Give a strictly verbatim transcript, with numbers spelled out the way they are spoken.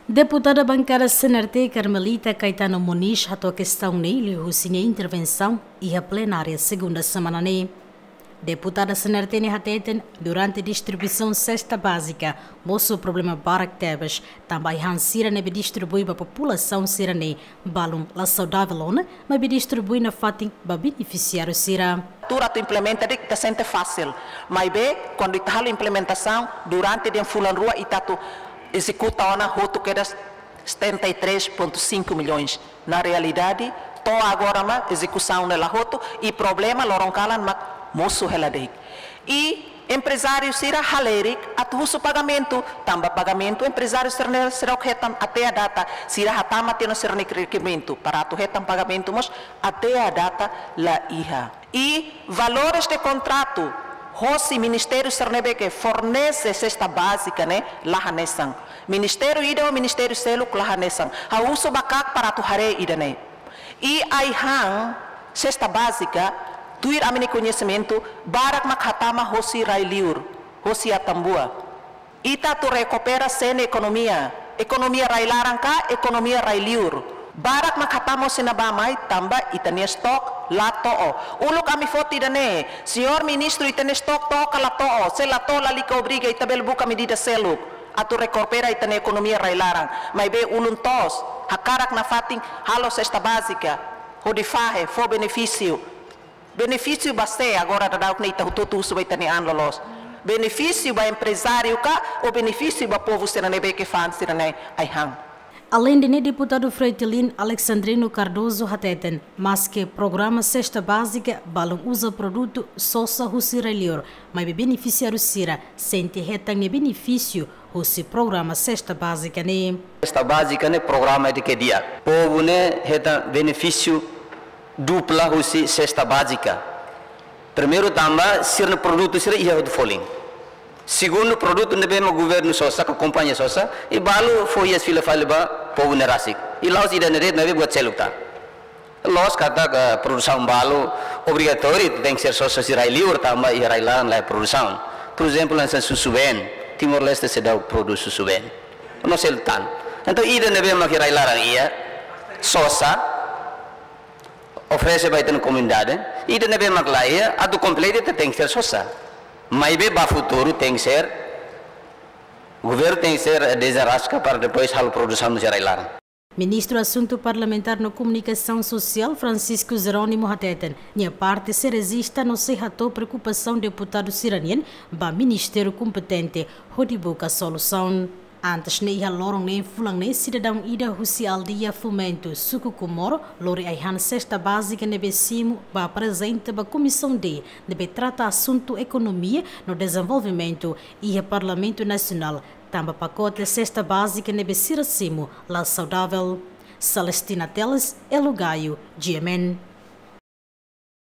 Deputada bankada C N R T Carmelita Caetano Moniz hato'o kestaun ne'e liuhusi nia intervensaun iha plenária segunda semana ne'e. Deputada C N R T ne'e hateten, durante distribuisaun sesta bázika, mosu problema barak tebes, tanba ai-han sira ne'ebé distribui ba populasaun sira-ne'e balun la saudavel ona, maibé distribui nafatin ba benefisiáriu sira. Tuur atu implementa de'it ita sente fasil, maibé kuandu ita halo implementasaun durante dehan fulan rua ita atu ezekuta ona hotu kedas setenta e três ponto cinco milhões. Na realidade, to'o agora mak ezekusaun ne'e la hotu, i problema loron kalan mak mosu hela de'it. I emprezáriu sira halerik atu husu pagamentu, tanba pagamentu emprezáriu sira-ne'e seidauk hetan até à data, sira hatama tiha ona sira-nia rekerimentu para atu hetan pagamentu mós até à data la iha. I valores de kontratu hosi ministériu sira ne'ebé ke fornese sesta bázika ne'e la hanesan. Ministériu ida ho ministériu seluk la hanesan. Ha'u husu ba KAK para atu haree ida-ne'e. I ai-han sesta bázika, tuir ami-nia koñesimentu, barak mak hatama hosi rai-liur, hosi Atambua. Ita atu rekupera sé-nia ekonomia, ekonomia rai-laran ka ekonomia rai-liur. Barak mak hatama hosi ne'ebá mai tanba ita-nia stok la to'o. Uluk ami foti ida-ne'e, señór ministru, ita-nia stok to'o ka la to'o, se la to'o lalika obriga, ita bele buka medida seluk atu rekupera ita-nia ekonomia rai-laran. Maibé ulun-toos, hakarak nafatin halo sesta bázika, hodi fahe, fó benefísiu. Benefísiu ba sé? Agora daudaun ne'e ita hotu-hotu husu ba ita-nia an loloos. Benefísiu ba emprezáriu ka, ou benefísiu ba povu sira ne'ebé ke fa'an sira-nia ai-han? Aleinde ne'e, deputadu Fretilin Alexandrino Cardoso hateten, maske programa sesta bázika balun uza produtu sosa husi rai-liur, maibé benefisiáriu sira sente hetan nia benefísiu husi programa sesta bázika ne'e. Sesta bázika ne'e programa ida ke di'ak. Povu ne'e hetan benefísiu dupla husi sesta bázika. Primeiru, tanba sira-nia produtu sira iha hotu folin. Segundu, produtu ne'ebé mak governu sosa ka kompañia sosa, i balu fó iha fila fali ba povu ne'e rasik. I la'ós ida-ne'e de'it, maibé buat seluk tan. Loos katak, eh, produsaun balu obrigatóriu tenke ser sosa husi rai-liur, tanba iha rai-laran laiha produsaun. Por ezemplu, hanesan susubeen, Timor-Leste seidauk prodús susubeen. No seluk tan. Entaun, ida ne'ebé mak iha rai-laran iha, sosa, oferese ba ita-nia komunidade, ida ne'ebé mak laiha, atu kompleta ita tenke ser sosa. Maibé ba futuru tenke ser, governu tenke ser dezenraska para depois halo produsaun husi rai-laran. Ministru Asuntu Parlamentár no Komunikasaun Sosiál Francisco Jerónimo hateten, nia parte sei rejista no sei hato'o preokupasaun deputadu sira-nian ba ministériu kompetente hodi buka solusaun. Antes ne'e, iha loron ne'e, fulan ne'e, sidadaun ida husi aldeia Fomento, suku Comoro, lori ai-han sesta bázika ne'ebé simu ba aprezenta ba Komisaun D ne'ebé trata asuntu ekonomia no dezenvolvimentu iha Parlamentu Nasionál, tanba pakote sesta bázika ne'ebé sira simu la saudavel. Celestina Teles, Elo Gayo, G M N.